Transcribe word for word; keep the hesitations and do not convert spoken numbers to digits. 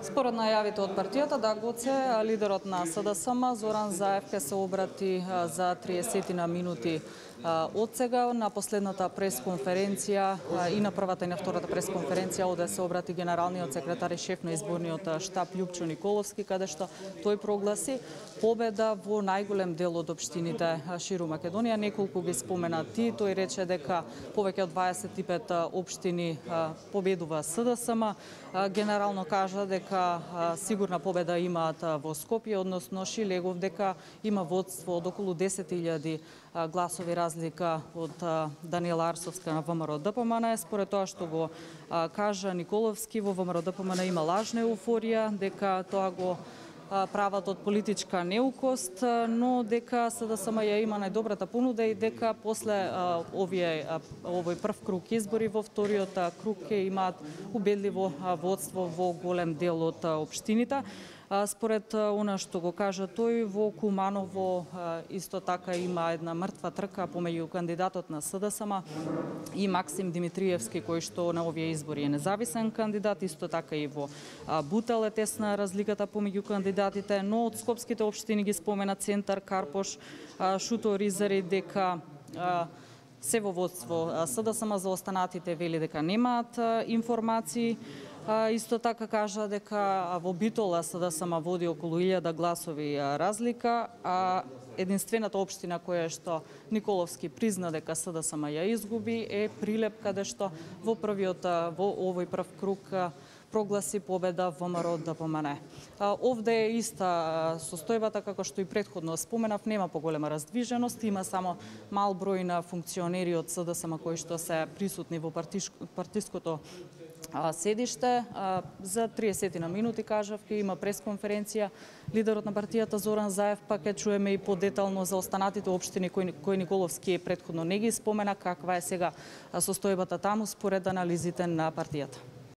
Според најавите од партијата Дагбоце, лидерот на СДСМ Зоран Заев ќе се обрати за триесет на минути од сега. На последната пресконференција и на првата и на втората пресконференција оде се обрати генералниот секретар и шеф на изборниот штаб Љупчо Николовски, каде што тој прогласи победа во најголем дел од општините ширум Македонија. Неколку ги спомена ти, тој рече дека повеќе од дваесет и пет општини победува СДСМ. Генерално кажа дека сигурна победа имаат во Скопје, односно Шилегов дека има водство од околу десет илјади гласови разлика од Даниела Арсовска на ВМРО Д П М Н. Според тоа што го кажа Николовски, во ВМРО Д П М Н има лажна еуфорија, дека тоа го прават од политичка неукост, но дека СДСМ ја има најдобрата понуда и дека после овие овој прв круг избори во вториот круг ќе имаат убедливо водство во голем дел од општините. Според она што го кажа тој, во Куманово исто така има една мртва трка помеѓу кандидатот на СДСМ и Максим Димитриевски, кој што на овие избори е независен кандидат. Исто така и во Бутел е тесна разликата помеѓу кандидатите, но од скопските општини ги спомена Центар, Карпош, Шуто, Ризари, дека се во водство СДСМ. За останатите вели дека немаат информации. Исто така кажа дека во Битола СДСМ води околу илјада гласови разлика, а единствената општина која што Николовски призна дека СДСМ ја изгуби е Прилеп, каде што во првиот во овој прв круг прогласи победа ВМРО Д П М Н. Овде е иста состојбата како што и претходно споменав, нема поголема раздвиженост, има само мал број на функционери од СДСМ кои што се присутни во партиското седиште. За триесет на минути, кажав, ќе има пресконференција лидерот на партијата Зоран Заев, па ќе чуеме и подетално за останатите општини кои, кои Николовски претходно не ги спомена, каква е сега состојбата таму според анализите на партијата.